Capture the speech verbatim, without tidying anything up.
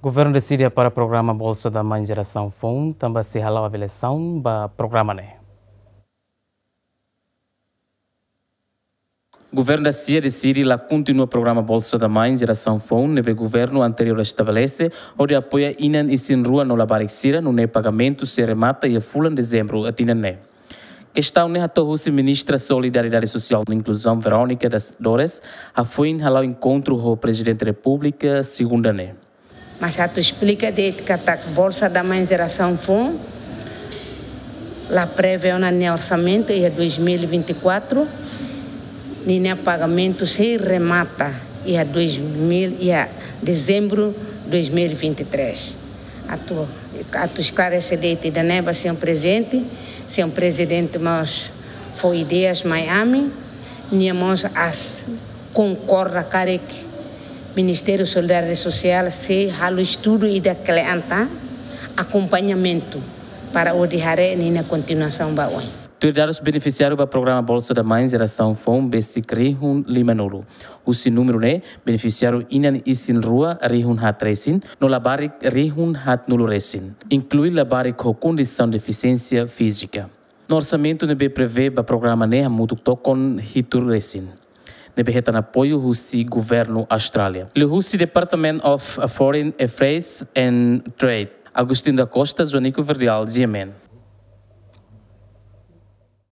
Governu deside para programa Bolsa da Mãe Jerasaun Foun, tanba sei hala'o avaliasaun ba programa ne'e. Governu da Sia deside la kontinua programa Bolsa da Mãe Jerasaun Foun ne'ebé governu anteriór estabelese, hodi apoia inan isin-rua no labarik sira, nune'e pagamentu sei remata iha fulan dezembru tinan ne'e. Kestaun ne'e hato'o husi Ministra Solidariedade Sosiál no Inkluzaun, Verónica das Dores, hafoin hala'o enkontru ho Prezidente Repúblika segunda ne'e. Mas atu esplika de'it katak Bolsa da Mãe Jerasaun Foun la prevee ona nia orsamentu iha dois mil e vinte e quatro, ninia pagamentu sei remata iha dois mil, iha dezembru dois mil e vinte e três. Atu, atu esklarese de'it ida-ne'e ba señór Prezidente, señór Prezidente mós fó ideias mai ami, nia mós as konkorda karik Ministériu Solidariedade Sosiál sei halo estudu ida kle'an tan, akompañamentu para hodi haree ninia kontinuasaun ba oin. Tuir dadus, benefisiáriu ba programa Bolsa da Mãe Jerasaun Foun besik rihun lima-nulu. Husi númeru ne'e, benefisiáriu inan isin-rua rihun haat resin, no labarik rihun haatnulu resin, inklui labarik ho kondisaun defisiénsia fízika. No orsamentu ne'ebé prevee ba programa ne'e hamutuk tokon hitu resin, ne'ebé hetan apoiu husi governu Austrália, liuhusi Department of Foreign Affairs and Trade. Agostinho da Costa, Joanico Verdial, G M N.